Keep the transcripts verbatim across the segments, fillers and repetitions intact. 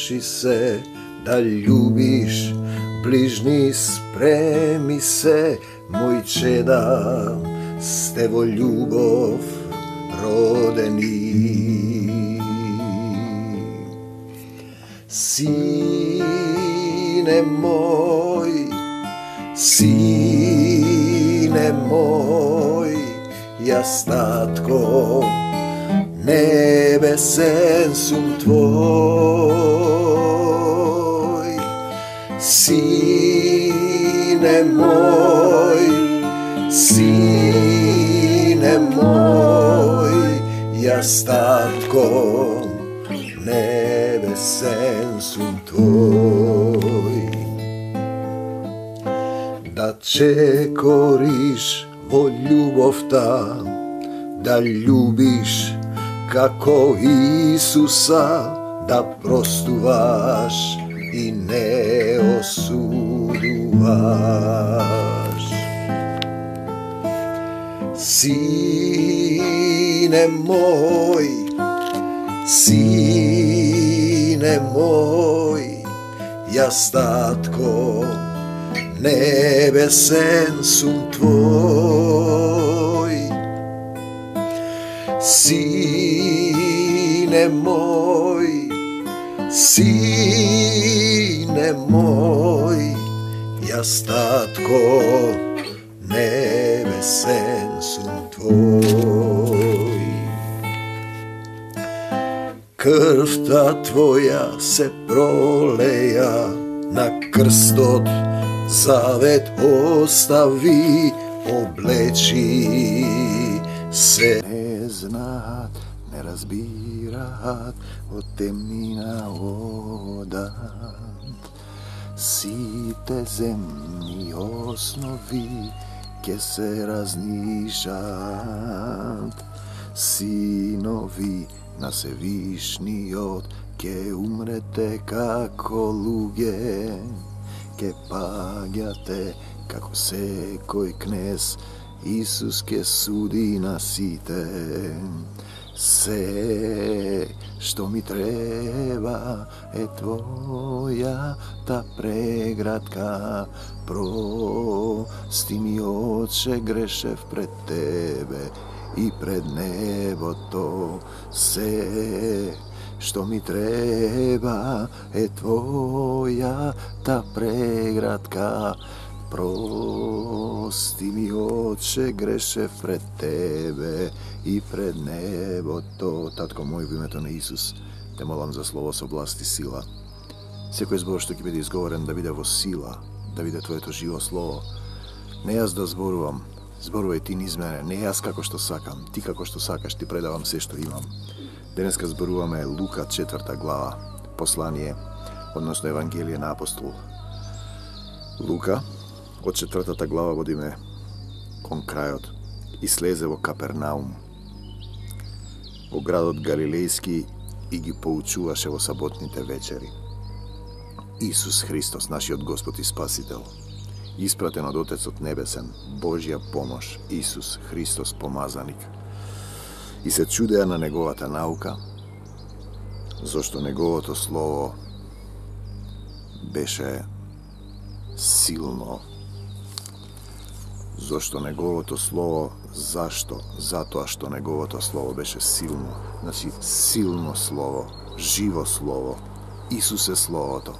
Научи се да љубиш ближни, спреми се, мој чеда, сте во љубов родени. Сине мој, сине мој, јас татко небесен сум твој. Сине мој, сине мој, јас татко небесен сум твој. Да чекориш во љубовта, да љубиш како Исуса, да простуваш и не осудуваш. Сине мој, сине мој, јас татко небесен сум твој. Сине мој, сине мој, јас татко небесен сум твој. Крвта твоја се пролеја на крстот, завет остави, облечи се. Не знаат, не разбираат, од темнина одат. Сите земни основи ке се разнишат. Синови на Севишниот ке умрете како луѓе, ке паѓате како секој кнез, Исус ке суди на сите. Се што ми треба е твојата преградка. Прости ми, Отче, грешев пред тебе и пред небото. Се што ми треба е твојата преградка. Прости ми, Отче, грешев пред тебе и пред небото. Татко мој, во името на Исус, те молам за слово со власт и сила. Секој збор што ќе биде изговорен да биде во сила, да биде твоето живо слово. Не јас да зборувам, зборувај ти низ мене, не јас како што сакам, ти како што сакаш, ти предавам се што имам. Денеска зборуваме Лука четврта глава, послание, односно Евангелие на апостол Лука. Од четвртата глава водиме кон крајот. И слезе во Капернаум, во градот Галилејски, и ги поучуваше во саботните вечери. Исус Христос, нашиот Господ и Спасител, испратен од Отецот Небесен, Божја помош, Исус Христос помазаник. И се чудеа на неговата наука, зашто неговото слово беше силно. Зошто неговото слово, зашто? Затоа што неговото слово беше силно. Значи, силно слово, живо слово. Исус е словото.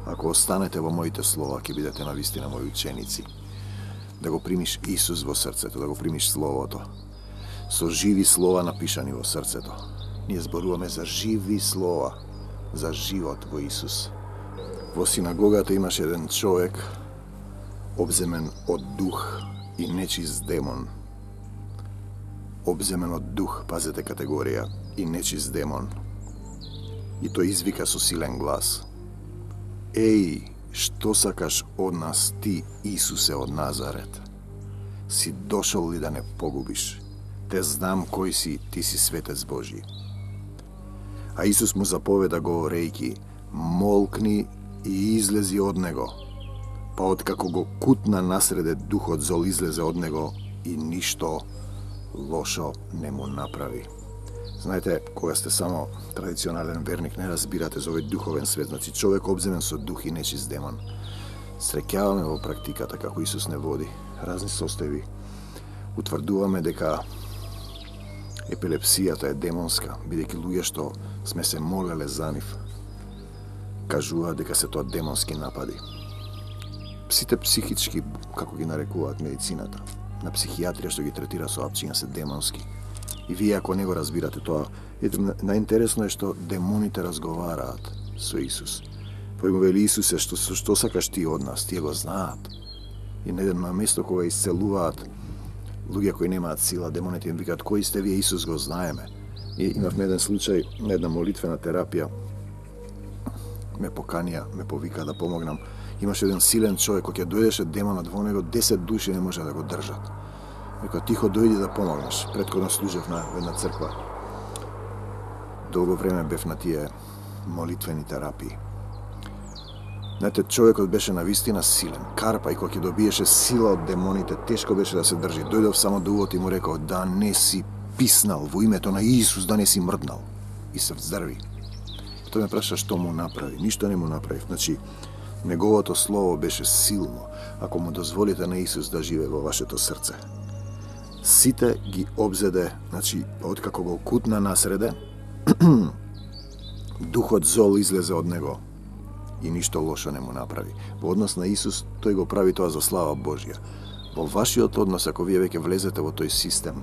Ако останете во моите слова, ќе бидете навистина мои ученици. Да го примиш Исус во срцето, да го примиш словото. Со живи слова напишани во срцето. Ние зборуваме за живи слова, за живот во Исус. Во синагогата имаше еден човек, обземен од дух и нечист демон. Обземен од дух, пазете категорија, и нечист демон. И тој извика со силен глас: Еј, што сакаш од нас ти, Исусе од Назарет? Си дошол ли да не погубиш? Те знам кој си, ти си светец Божи. А Исус му заповеда говорејќи: молкни и излези од него. Па откако го кутна насреде, духот зол излезе од него и ништо лошо не му направи. Знаете, кога сте само традиционален верник, не разбирате за овој духовен свет, значи човек обземен со дух и нечист демон. Среќаваме во практиката како Исус не води, разни состојби. Утврдуваме дека епилепсијата е демонска, бидејќи луѓе што сме се молеле за нив, кажуваат дека се тоа демонски напади. Сите психички, како ги нарекуваат медицината, на психијатрија што ги третира со апчиња се демонски. И вие ако не го разбирате тоа, ете, најинтересно е што демоните разговараат со Исус. Па му вели Исусе, што, што сакаш ти од нас, тие го знаат. И на место кога исцелуваат луѓе кои немаат сила, демоните им викаат, кои сте вие, Исус го знаеме. И имавме еден случај на една молитвена терапија, ме поканија, ме повика да помогнам. Имаше еден силен човек, кој ќе дојдеше демонот во него, десет души не може да го држат. Вика, тихо дојди да помогнеш. Претходно служев на една црква. Долго време бев на тие молитвени терапии. Знаете, човекот беше навистина силен. Карпа и кога ќе добиеше сила од демоните, тешко беше да се држи. Дојдов само до увод и му рекол, да не си писнал во името на Исус, да не си мрднал. И се вздрви. Тој ме праша што му направи. Ништо не му направи. Значи, неговото слово беше силно, ако му дозволите на Исус да живее во вашето срце. Сите ги обзеде, значи, откако го кутна насреде, духот зол излезе од него и ништо лошо не му направи. Во однос на Исус, тој го прави тоа за слава Божја. Во вашиот однос, ако вие веќе влезете во тој систем,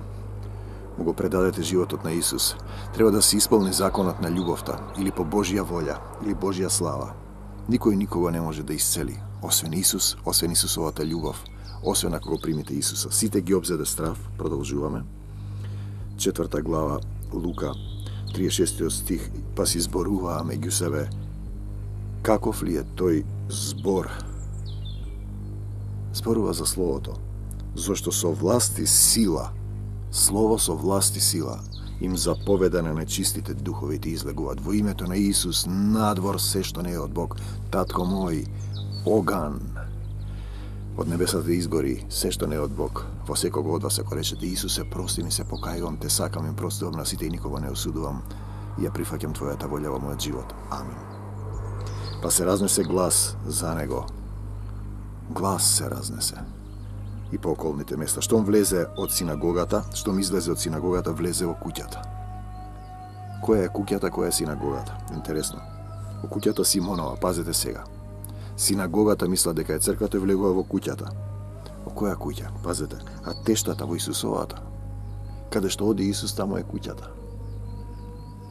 му го предадете животот на Исус, треба да се исполни законот на љубовта, или по Божја волја, или Божја слава. Никој никого не може да исцели, освен Исус, освен Исусовата љубов, освен ако го примите Исуса. Сите ги обзеде страв, продолжуваме. Четврта глава, Лука, триесет и шести стих, па си зборуваа меѓу себе, каков ли е тој збор? Зборува за Словото, зашто со власт и сила, Слово со власт и сила, им заповеда на нечистите духови да излегуваат во името на Исус, надвор се што не е од Бог. Татко мој, оган од небесата изгори се што не е од Бог. Во секого од вас ако речете Исусе, прости ми, се покајувам, те сакам, им простувам на сите и никого не осудувам, и ја прифаќам твојата волја во мојот живот. Амин. Па се разнесе глас за него. Глас се разнесе и по околните места. Штом влезе од синагогата, штом излезе од синагогата, влезе во куќата. Која е куќата, која е синагогата? Интересно. Во куќата Симонова, пазете сега. Синагогата мисла дека е црквата и влегува во куќата. Во која куќа? Пазете. А тештата во Исусовата. Каде што оди Исус, тамо е куќата.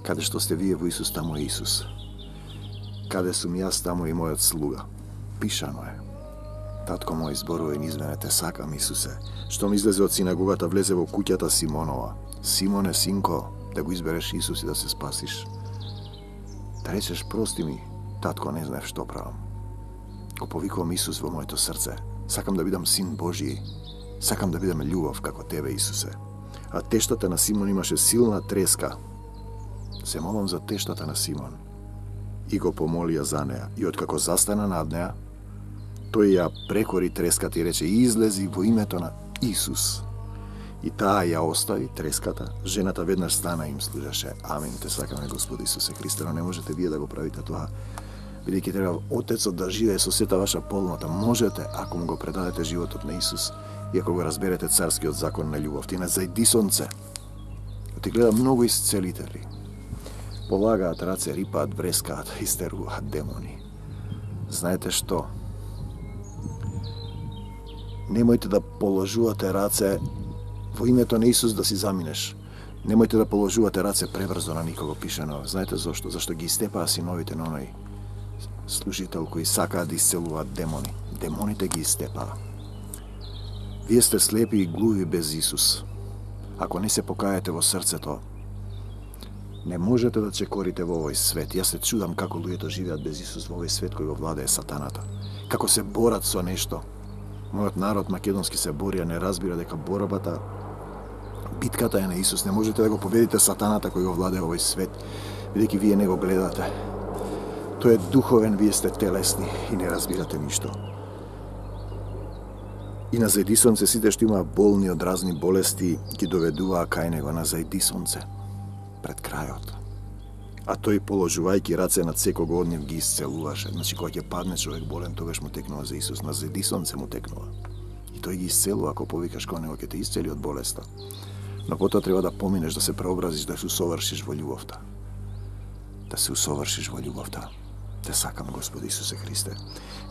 Каде што сте вие во Исус, тамо е Исус. Каде сум јас, тамо и мојот слуга. Пишано е. Татко мој, зборува и низ мене, те сакам, Исусе. Штом излезе од синагогата, влезе во куќата Симонова. Симоне, синко, да го избереш Исус и да се спасиш. Да речеш, прости ми, татко, не знаев што правам. Го повикувам Исус во моето срце. Сакам да бидам син Божи. Сакам да бидам љубов како тебе, Исусе. А тештата на Симон имаше силна треска. Се молам за тештата на Симон. И го помолија за неа. И откако застана над неа, тој ја прекори треската и рече, излези во името на Исус. И таа ја остави треската, жената веднаш стана и им служеше. Амин, те сакаме Господи Исусе Христе, но не можете вие да го правите тоа. Бидејќи треба Отецот да живее со сета ваша полнота. Можете, ако му го предадете животот на Исус и ако го разберете царскиот закон на љубов. Ти на зајди сонце. Ти гледа многу исцелители. Полагаат раце, рипаат, врескаат, истеруваат демони. Знаете што? Немојте да положувате раце во името на Исус да си заминеш. Немојте да положувате раце пребрзо на никого, пишено. Знаете зошто? Зашто ги истепаа синовите на оној служител кои сакаат да исцелуваат демони. Демоните ги истепаа. Вие сте слепи и глуви без Исус. Ако не се покаете во срцето, не можете да чекорите во овој свет. Јас се чудам како луѓето живеат без Исус во овој свет кој го владее сатаната. Како се борат со нешто. Мојот народ македонски се бори, а не разбира дека борбата, битката е на Исус. Не можете да го победите сатаната кој го владее овој свет, бидејќи вие не го гледате. Тој е духовен, вие сте телесни и не разбирате ништо. И на зајди сонце сите што има болни од разни болести ги доведуваа кај него на зајди сонце. пред крајот. А тој, положувајќи раце над секого од нив, ги исцелуваше. Значи, кога ќе падне човек болен, тогаш му текнува за Исус. На зедисонце му текнува. И тој ги исцелува, ако повикаш кон него, ќе те исцели од болеста. Но потоа треба да поминеш, да се преобразиш, да се усовршиш во љубовта. Да се усовршиш во љубовта. Те сакам, Господи Исусе Христе.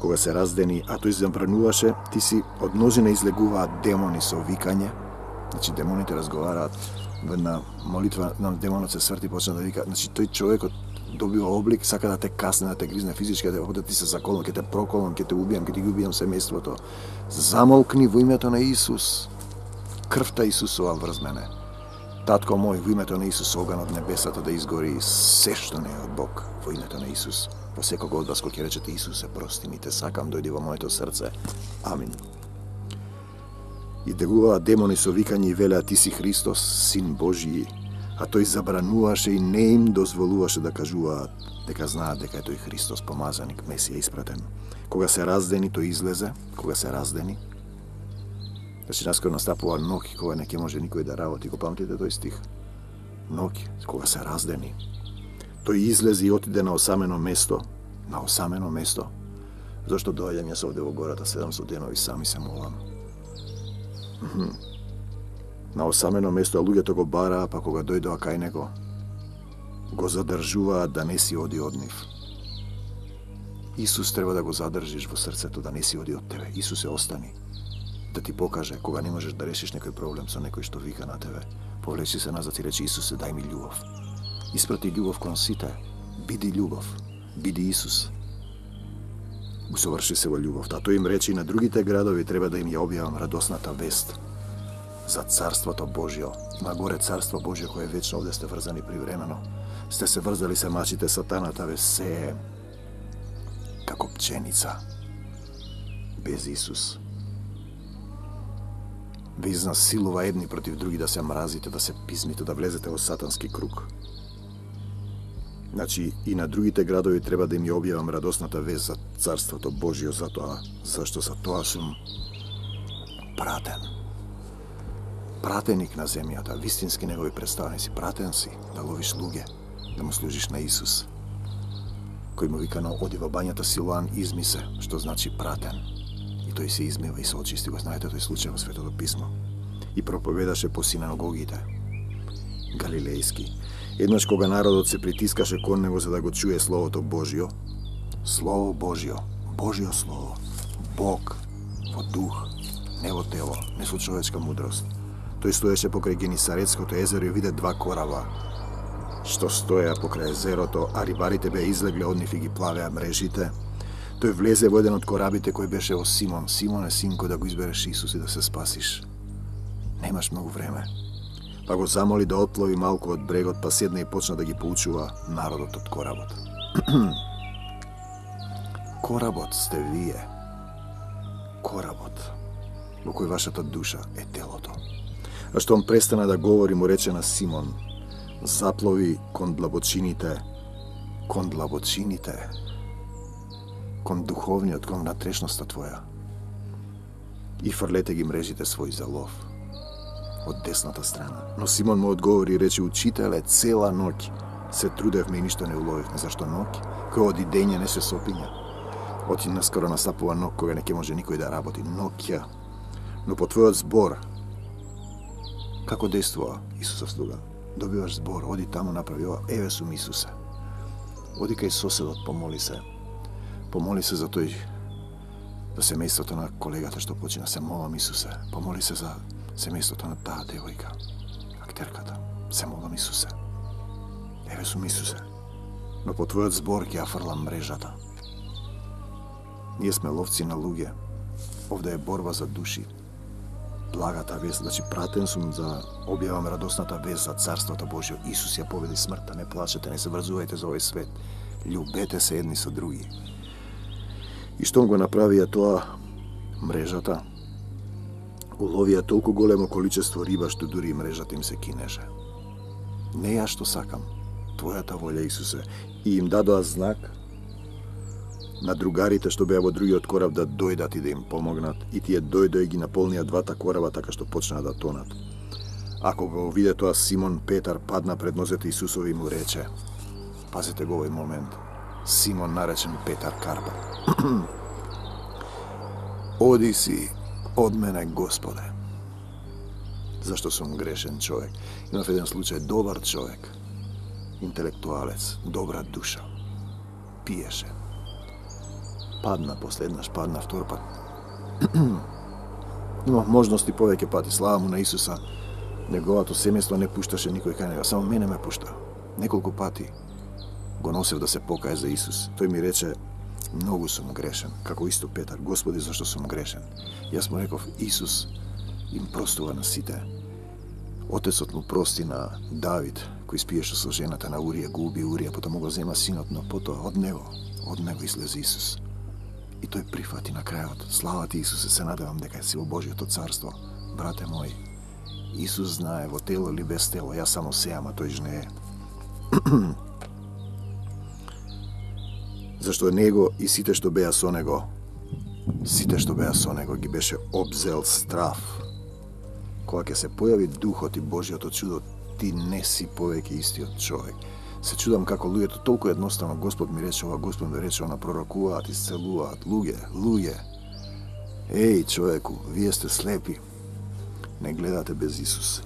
Кога се раздени, а тој забрануваше, ти си од множина излегуваат демони со викање. Значи, демоните разговараат. На молитва на демонот се сврти, почна да вика. Значи, тој човекот добива облик, сака да те касне, да те гризне физички, да те, да ти се заколам, ќе те проколам, ќе те убијам, ќе ти ги убијам семејството. Замолкни во името на Исус. Крвта Исусова врз мене. Татко мој, во името на Исус, оган од небесата да изгори се што не е од Бог, во името на Исус. По секого од вас кој ќе речете Исусе, прости ми, те сакам, дојди во моето срце. Амин. И дегуваат демони со викање и велеа, ти си Христос, Син Божји, а тој забрануваше и не им дозволуваше да кажуваат дека знаат дека е тој Христос, помазаник, Месија испратен. Кога се раздени, тој излезе, кога се раздени. Значи, наскоро настапува ноќ, кога не ќе може никој да работи, го памтите тој стих? Ноќ, кога се раздени. Тој излезе и отиде на осамено место, на осамено место. Зошто доаѓам јас овде во гората, седам со денови, сами се молам. На осамено место, а луѓето го бараа, па кога дојдоа кај него, го задржуваат да не си оди од нив. Исус треба да го задржиш во срцето, да не си оди од тебе. Исусе, остани. Да ти покаже, кога не можеш да решиш некој проблем со некој што вика на тебе. Повлечи се назад и речи, Исусе, дај ми љубов. Испрати љубов кон сите. Биди љубов. Биди Исус. Усоврши се во љубовта. А тој им рече и на другите градови треба да им ја објавам радосната вест за Царството Божјо. Има горе Царство Божјо кое вечно, овде сте врзани привремено. Сте се врзали, се мачите, сатаната ве се како пченица без Исус. Ве изнасилува едни против други, да се мразите, да се пизмите, да влезете во сатански круг. Значи, и на другите градови треба да им ја објавам радосната вест за Царството Божјо, затоа, зашто за тоа сум пратен. Пратеник на земјата, вистински негови представници, пратен си да ловиш луѓе, да му служиш на Исус, кој му вика на оди во бањата Силоан, изми се, што значи пратен. И тој се измива и се очисти, го знаете тој случај во Светото писмо. И проповедаше по синагогите галилејски. Еднаш кога народот се притискаше кон него за да го чуе Словото Божјо, Слово Божјо, Божјо Слово, Бог во дух, не во тело, не со човечка мудрост. Тој стоеше покрај Генисаретското езеро и виде два кораба, што стоеа покрај езерото, а рибарите беа излегле од нив и ги плавеа мрежите. Тој влезе во еден од корабите кој беше о Симон. Симон е синко, да го избереш Исус и да се спасиш. Немаш многу време. Па го замоли да отплови малку од брегот, па седна и почна да ги поучува народот од коработ. Коработ сте вие. Коработ во кој вашата душа е телото. А што он престана да говори, му рече на Симон, заплови кон длабочините, кон длабочините, кон духовниот, кон внатрешноста твоја. И фрлете ги мрежите свој за лов од десната страна. Но Симон му одговори и рече, учителе, цела ноќ се трудевме и ништо не уловивме. Зашто ноќ? Кој оди дење не се сопиња. Оти наскоро настапува ноќ кога не ќе може никој да работи. Ноќа. Но по твојот збор, како действува Исусов слуга? Добиваш збор, оди таму, направи ова, еве сум Исусе. Оди кај соседот, помоли се. Помоли се за тој, за семејството на колегата што почина. Се молам, Исусе. Помоли се за семејството на таа девојка, актерката. Се молам, Исусе. Еве сум Исусе. Но по твојот збор ќе ја фрлам мрежата. Ние сме ловци на луѓе. Овде е борба за души. Благата вест, значи пратен сум за објавам радосната вест за Царството Божјо. Исус ја победи смртта, не плачете, не се врзувајте за овој свет. Љубете се едни со други. И штом го направија тоа, мрежата, уловија толку големо количество риба што дури и мрежата им се кинеше. Не ја што сакам, твојата волја, Исусе. И им дадоа знак на другарите што беа во другиот кораб да дојдат и да им помогнат, и тие дојдоа и ги наполнија двата кораба така што почнаа да тонат. Ако го виде тоа Симон Петар, падна пред нозете Исусови и му рече, пазете го овој момент, Симон наречен Петар Карпа. Оди си од мене, Господе. Зашто сум грешен човек? Имав еден случај, добар човек, интелектуалец, добра душа, пиеше. Падна, последнаш падна, втор пат. Имав можности повеќе пати, слава му на Исуса. Неговото семејство не пушташе никој кај него, само мене ме пушта. Неколку пати го носев да се покае за Исус. Тој ми рече, многу сум грешен, како исто Петар, Господи, зашто сум грешен? Јас му реков, Исус им простува на сите. Отецот му прости на Давид, кој спиеше со жената на Урија, го уби Урија, потоа му го зема синот, но потоа од него, од него излезе Исус. И тој прифати на крајот. Слава ти, Исусе, се надевам дека си во Божјото царство. Брате мој, Исус знае во тело или без тело, јас само сеам, а тој жнее. Зашто него и сите што беа со него, сите што беа со него ги беше обзел страв. Кога ќе се појави Духот и Божјото чудо, ти не си повеќе истиот човек. Се чудам како луѓето толку едноставно, Господ ми рече ова, Господ ми рече она, пророкуваат, исцелуваат, луѓе, луѓе. Еј, човеку, вие сте слепи. Не гледате без Исус.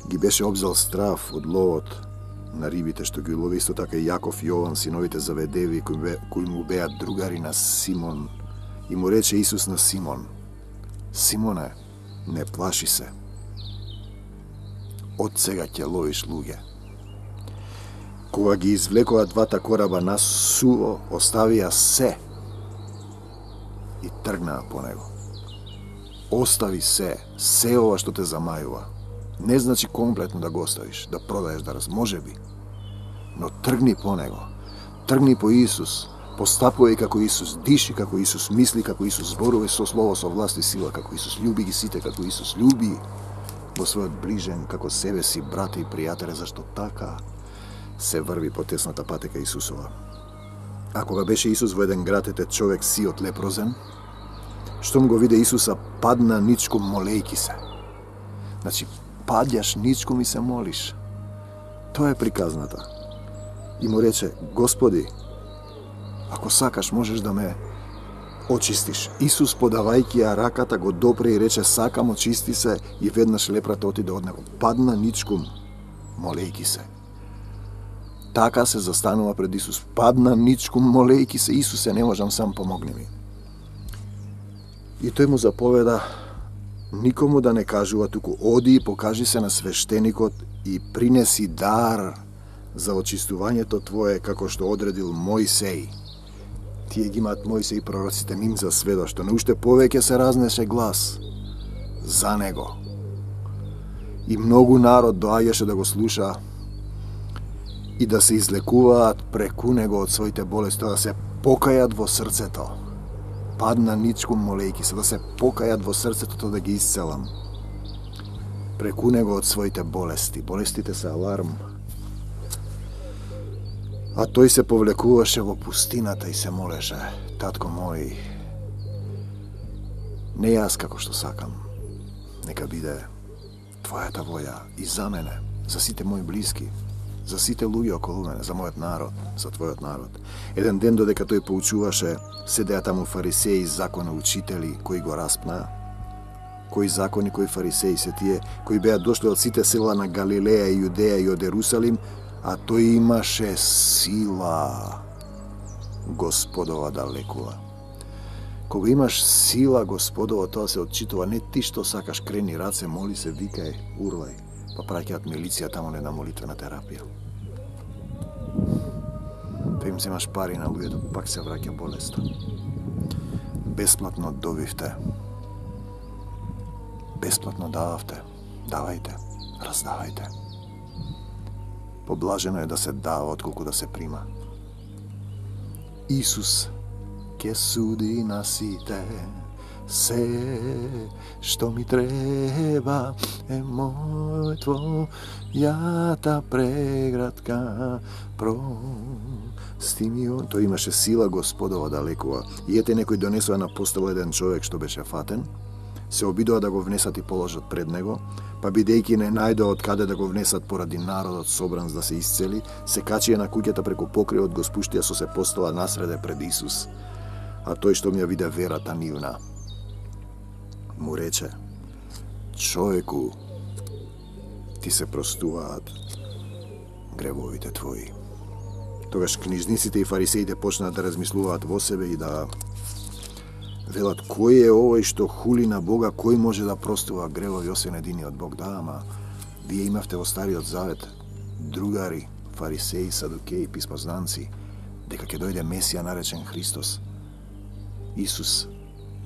Ги беше обзел страв од ловот на рибите што ги лови, исто така и Јаков и Јован, синовите Заведеви, кои, бе, кои му беа другари на Симон. И му рече Исус на Симон, Симоне, не плаши се. Од сега ќе ловиш луѓе. Кога ги извлекоа двата кораба на суво, оставија се и тргнаа по него. Остави се, се ова што те замајува. Не значи комплетно да го оставиш, да продаеш, да раз, може би. Но тргни по него. Тргни по Исус. Постапувај како Исус, диши како Исус, мисли како Исус, зборувај со слово, со власт и сила како Исус. Љуби ги сите како Исус. Љуби во својот ближен како себе си, брате и пријателе, зашто така се врви по тесната патека Исусова. А кога беше Исус во еден град, ете човек сиот лепрозен, штом го виде Исуса, падна ничком молејки се. Значи, падјаш ничком и се молиш. Тоа е приказната. И му рече, Господи, ако сакаш, можеш да ме очистиш. Исус, подавајќи ја раката, го допре и рече, сакам, очисти се, и веднаш лепрата отиде од него. Падна ничком, молејки се. Така се застанува пред Исус. Падна ничком, молејки се, Исусе, не можам сам, помогни ми. И тој му заповеда, никому да не кажува, туку оди и покажи се на свештеникот и принеси дар за очистувањето твое, како што одредил Мојсеј. Тие ги имаат Мојсеј и пророците, ним за сведоштво, но уште повеќе се разнесе глас за него. И многу народ доаѓаше да го слуша и да се излекуваат преку него од своите болести, да се покајат во срцето. Падна ничком молејки се, да се покајат во срцето, да ги исцелам. Преку него од своите болести. Болестите се аларм. А тој се повлекуваше во пустината и се молеше, татко мој, не јас како што сакам, нека биде твојата воја и за мене, за сите мои блиски, за сите луѓе околу мене, за мојот народ, за твојот народ. Еден ден додека тој поучуваше, седеа таму фарисеи, закони учители, кои го распнаа. Кои закони, кои фарисеи се тие, кои беа дошли од сите села на Галилеја и Јудеја и од Ерусалим, а тој имаше сила Господова да лекува. Кога имаш сила Господова, тоа се отчитува, не ти што сакаш, крени раце, моли се, викај, урлај, па праќаат милиција таму на молитвена терапија. Па им земаш пари на луѓето, пак се враќа болеста. Бесплатно добивте. Бесплатно дававте. Давајте, раздавајте. Поблажено е да се дава, отколку да се прима. Исус ке суди на сите, се што ми треба е мој твојата преградка, прости ми. Тој имаше сила Господова да лекува. И ете некој донесува на постава еден човек што беше фатен, се обидоа да го внесат и положат пред него, па бидејќи не најдоа од каде да го внесат поради народот собран за да се исцели, се качија на куќата преку покривот, го спуштија со се постала насреде пред Исус. А тој што ми ја виде верата нивна, му рече: човеку, ти се простуваат гревовите твои. Тогаш книжниците и фарисеите почнаа да размислуваат во себе и да велат: кој е овој што хули на Бога, кој може да простува гревови освен единиот Бог? Да, ама вие имавте во Стариот Завет другари, фарисеи, садукеи, писмознанци, дека ќе дојде Месија наречен Христос, Исус,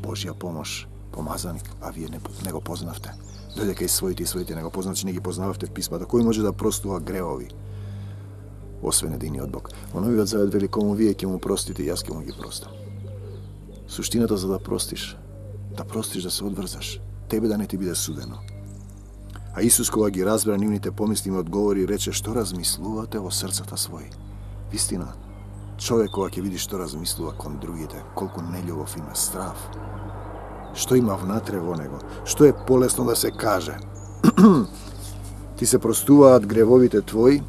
Божја помош, помазаник, а вие не, не го познавте. Дојде кај своите и своите не го познавте, значи не ги познававте писмата. Кој може да простува гревови освен единиот Бог? Во Новиот Завет вели: кому вие ќе му простите, јас ќе му ги простам. Суштината за да простиш, да простиш, да се одврзаш, тебе да не ти биде судено. А Исус, кога ги разбра нивните помисли, им одговори и рече: што размислувате во срцата своји? Вистина, човек кога ќе види што размислува кон другите, колку нељубов има, страв, што има внатре во него, што е полесно да се каже: ти се простуваат гревовите твои,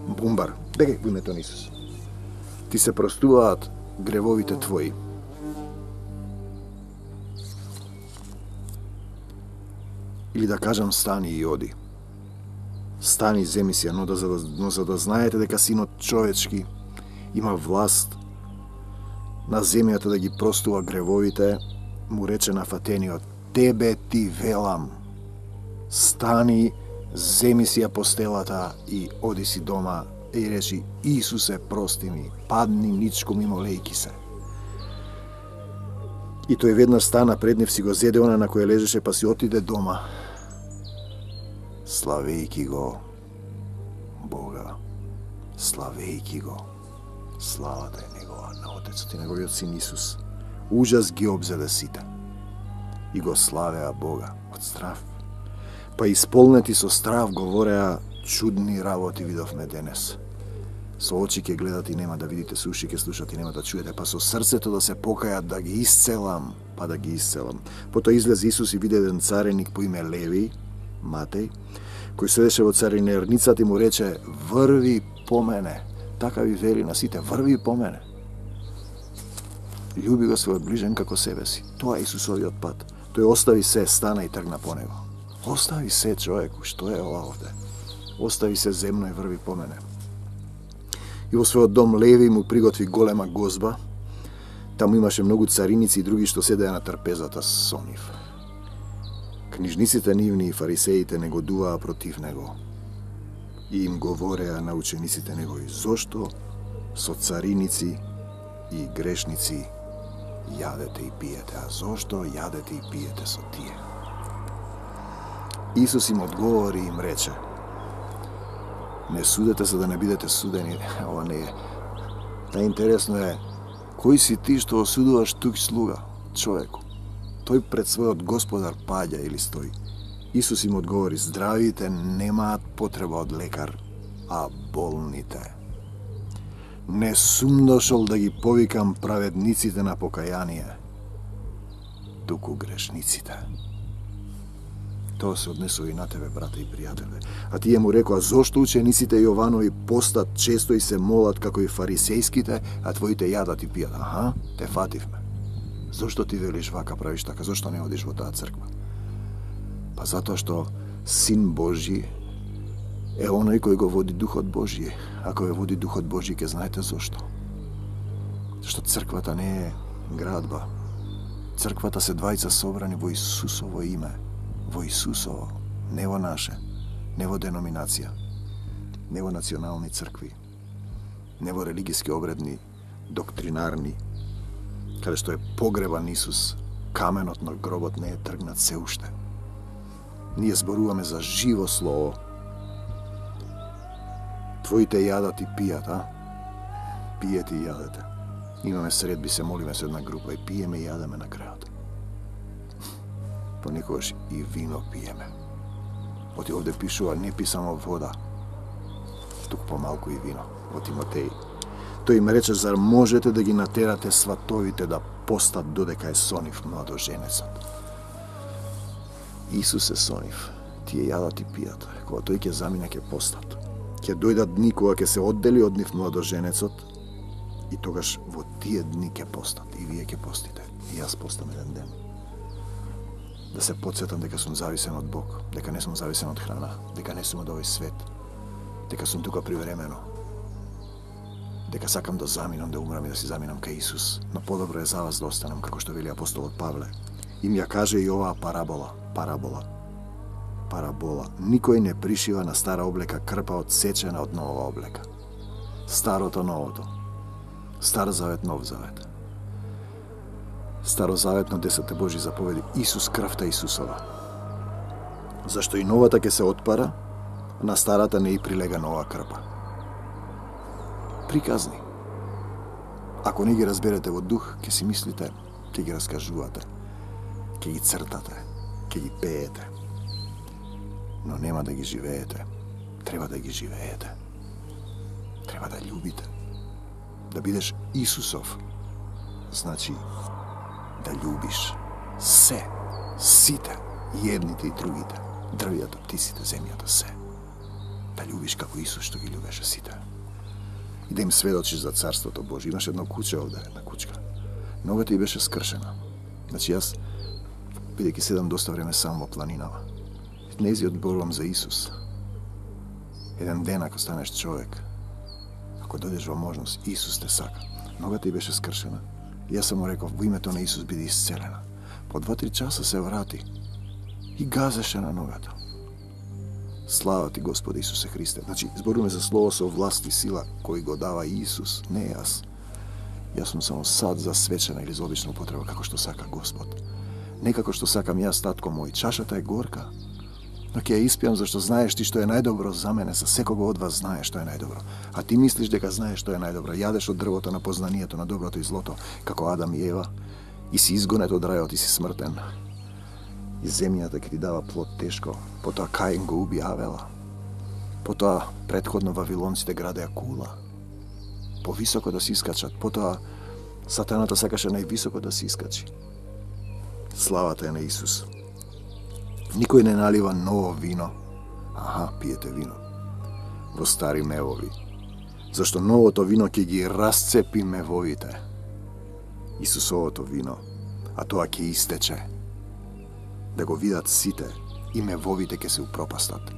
бумбар, декај во името на Исус. Ти се простуваат гревовите твои. Или да кажам: стани и оди. Стани, земи си ја, но, да, но за да знаете дека Синот човечки има власт на земјата да ги простува гревовите, му рече на фатениот: тебе ти велам, стани, земи си ја постелата и оди си дома. И речи: Исусе, прости ми, падни ничко мимо лејки се. И тој веднаш стана пред нив, си го зеде она на кој лежеше, па си отиде дома, славејки го Бога, славејки го. Славата е негова на Отецот и неговиот Син Исус. Ужас ги обзеде сите и го славеа Бога од страв. Па исполнети со страв говореа: чудни работи видовме денес. Со очи ќе гледат и нема да видите, со уши ќе слушат и нема да чуете, па со срцето да се покајат да ги исцелам, па да ги исцелам. Потоа излезе Исус и виде еден цареник по име Леви, Матеј, кој седеше во царинерницата и му рече: врви по мене. Така ви вели на сите: врви по мене. Љуби го својот ближен како себе си. Тоа е Исусовиот пат. Тој остави се, стана и тргна по него. Остави се, човеку, што е ова овде? Остави се земно и врви по мене. И во својот дом Леви му приготви голема гозба. Таму имаше многу цариници и други што седеа на трпезата со нив. Книжниците нивни и фарисеите негодуваа против него и им говореа на учениците негови: зошто со цариници и грешници јадете и пиете, а зошто јадете и пиете со тие? Исус им одговори и им рече: не судете за да не бидете судени. Ова не е. Најинтересно е, кој си ти што осудуваш тук слуга, човеку? Тој пред својот Господар паѓа или стои. Исус им одговори: здравите немаат потреба од лекар, а болните. Не сум дошол да ги повикам праведниците на покаяние, туку грешниците. Тоа се однесува и на тебе, брате и пријателе. А тие му рекоа: зошто учениците Јованови постат често и се молат како и фарисејските, а твоите јадат и пијат? Аха, те фативме. Зошто ти велиш вака, правиш така? Зошто не одиш во таа црква? Па затоа што Син Божи е оној кој го води Духот Божи. Ако ве води Духот Божи, ќе знаете зошто. Што црквата не е градба. Црквата се двајца собрани во Исусово име. Во Исусово, не во наше, не во деноминација, не во национални цркви, не во религиски обредни, доктринарни, каде што е погребан Исус, каменот на гробот не е тргнат се уште. Ние зборуваме за живо слово. Твоите јадат и пијат, а? Пиете и јадете. Имаме средби, се молиме со една група и пиеме и јадеме на крајот. Понекогаш и вино пиеме. Оти овде пишува: не пи само вода, туку помалку и вино. Во Тимотеј. Тој им рече, зар можете да ги натерате сватовите да постат додека е сонив младоженецот? Исус е сонив, тие јадат и пијат, кога тој ќе замине ќе постат. Ќе дојдат дни кога ќе се оддели од нив младоженецот и тогаш во тие дни ќе постат и вие ќе постите. И јас постам еден ден. Да се потсетам дека сум зависен од Бог, дека не сум зависен од храна, дека не сум од овој свет, дека сум тука привремено, дека сакам да заминам, да умрам и да си заминам кај Исус, но подобро е за вас да останам, како што вели апостолот Павле. Им ја каже и оваа парабола, парабола, парабола. Никој не пришива на стара облека крпа одсечена од нова облека. Старото, новото. Стар завет, нов завет. Старозаветно десетте Божји заповеди, Исус, крвта Исусова. Зашто и новата ќе се отпара, на старата не и прилега нова крпа. Приказни. Ако не ги разберете во дух, ќе си мислите, ќе ги раскажувате, ќе ги цртате, ќе ги пеете. Но нема да ги живеете. Треба да ги живеете. Треба да љубите. Да бидеш Исусов. Значи, да љубиш се, сите, и едните и другите, дрвијата, птиците, земјата, се. Да љубиш како Исус што ги љубеше сите. И да им сведочиш за Царството Божие. Имаш едно куче овде, една кучка. Ногата ѝ беше скршена. Значи јас, бидејќи седам доста време сам во планинава, не зи одборувам за Исус. Еден ден, ако станеш човек, ако дојдеш во можност, Исус те сака. Ногата ѝ беше скршена. И јас само реков, во името на Исус биде исцелена. По два-три часа се врати и газеше на ногата. Слава ти, Господи Исусе Христе. Значи, зборуваме за слово со власт и сила кој го дава Исус, не јас. Јас сум само сад за свечена или за обична употреба, како што сака Господ. Не како што сакам јас, татко мој. Чашата е горка, но ќе ја испијам зашто знаеш ти што е најдобро за мене, за секого од вас знаеш што е најдобро. А ти мислиш дека знаеш што е најдобро. Јадеш од дрвото на познанието на доброто и злото, како Адам и Ева, и си изгонет од рајот и си смртен. И земјата ќе ти дава плод тешко. Потоа Каин го уби Авела. Потоа претходно вавилонците градеа кула. Повисоко да се искачат. Потоа сатаната сакаше највисоко да се искачи. Славата е на Исус. Никој не налива ново вино. Аха, пиете вино. Во стари мевови. Зашто новото вино ќе ги расцепи мевовите. Исусовото вино. А тоа ќе истече. Да го видат сите и мевовите ќе се упропастат.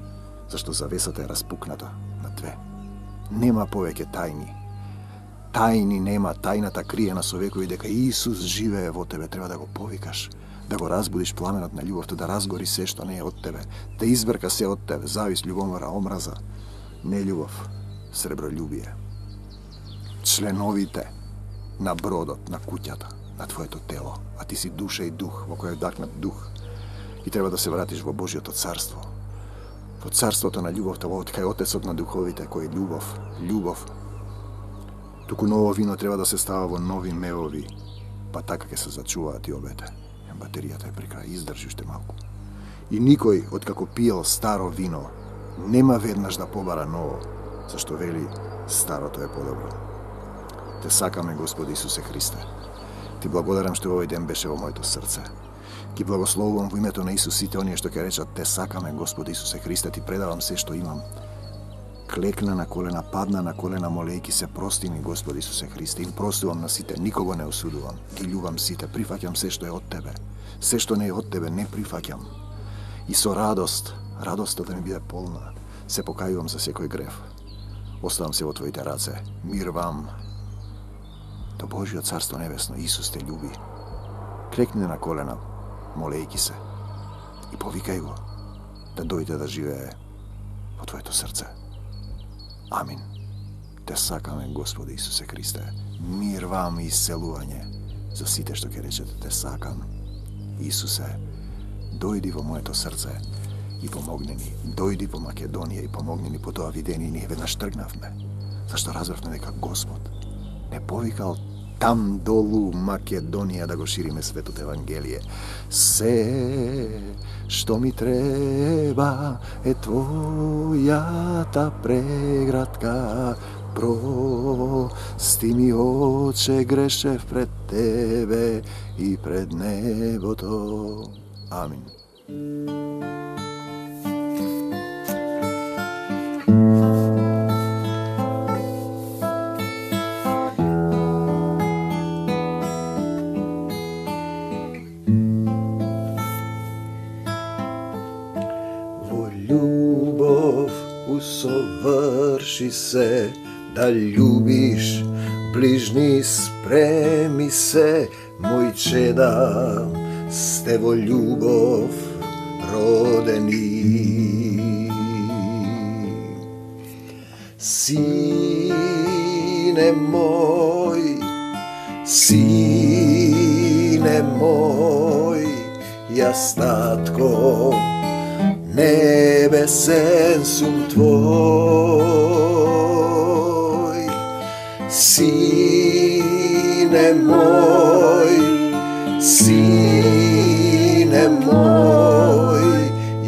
Зашто завесата е распукната на две. Нема повеќе тајни. Тајни нема, тајната криена со векови дека Исус живее во тебе. Треба да го повикаш, да го разбудиш пламенот на љубовта, да разгори се што не е од тебе, да избрка се од тебе, завис, љубомора, омраза, нељубов, сребролюбие. Членовите на бродот, на куќата, на твоето тело, а ти си душа и дух, во која е вдакнат дух, и треба да се вратиш во Божјото царство, во царството на љубовта, во кај Отецот на духовите, кој е љубов, љубов. Туку ново вино треба да се става во нови мевови, па така ќе се зачуваат и обете. Батеријата е при крај, издржи уште малку. И никој, откако пиел старо вино, нема веднаш да побара ново, зашто вели, старото е подобро. Те сакаме, Господи Исусе Христе. Ти благодарам што овој ден беше во моето срце. Ти благословувам во името на Исус сите оние што ќе речат, те сакаме, Господи Исусе Христе, ти предавам се што имам. Клекна на колена, падна на колена, молејки се, прости ми, Господи Исусе Христе, им простувам на сите, никого не осудувам, ги љубам сите, прифаќам се што е од Тебе. Се што не е од Тебе не прифаќам. И со радост, радоста да ми биде полна, се покајувам за секој грев. Оставам се во Твоите раце. Мир вам. До Божјо Царство Небесно, Исус те љуби. Клекни на колена, молејки се, и повикај го да дојде да живее во Твоето срце. Амин. Те сакаме, Господи Исусе Христе. Мир вам и исцелување за сите што ќе речете, те сакам. Исусе, дојди во моето срце и помогни ни. Дојди во Македонија и помогни ни по тоа видение. Ние веднаш тргнавме, зашто разбравме дека Господ не повикал там долу Македонија да го шириме светот Евангелие. Се што ми треба е Твојата преградка, Прости ми, Оче, грешев пред Тебе и пред небото. Амин. Во љубов усоврши се, да љубиш ближни, спреми се, мој чеда, сте во љубов родени. Сине мој, сине мој, јас татко, небесен сум твој. Сине мој, сине мој,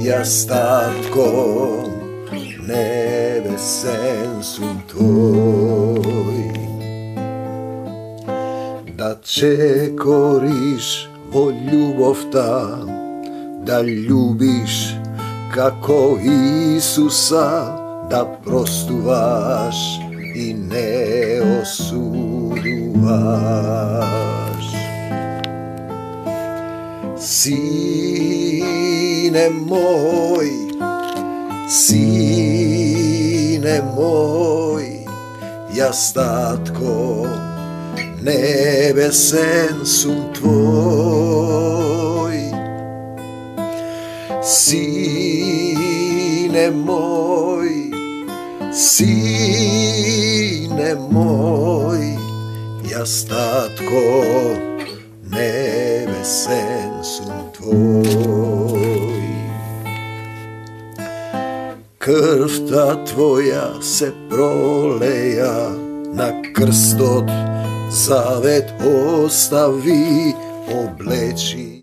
јас татко, небесен сум твој. Да чекориш во љубовта, да љубиш како Исуса, да простуваш и не осудуваш. Сине мој, сине мој, јас татко, небесен сум твој. Сине мој, сине мој, јас татко, небесен сум твој. Крвта твоја се пролеја на крстот, завет остави, облечи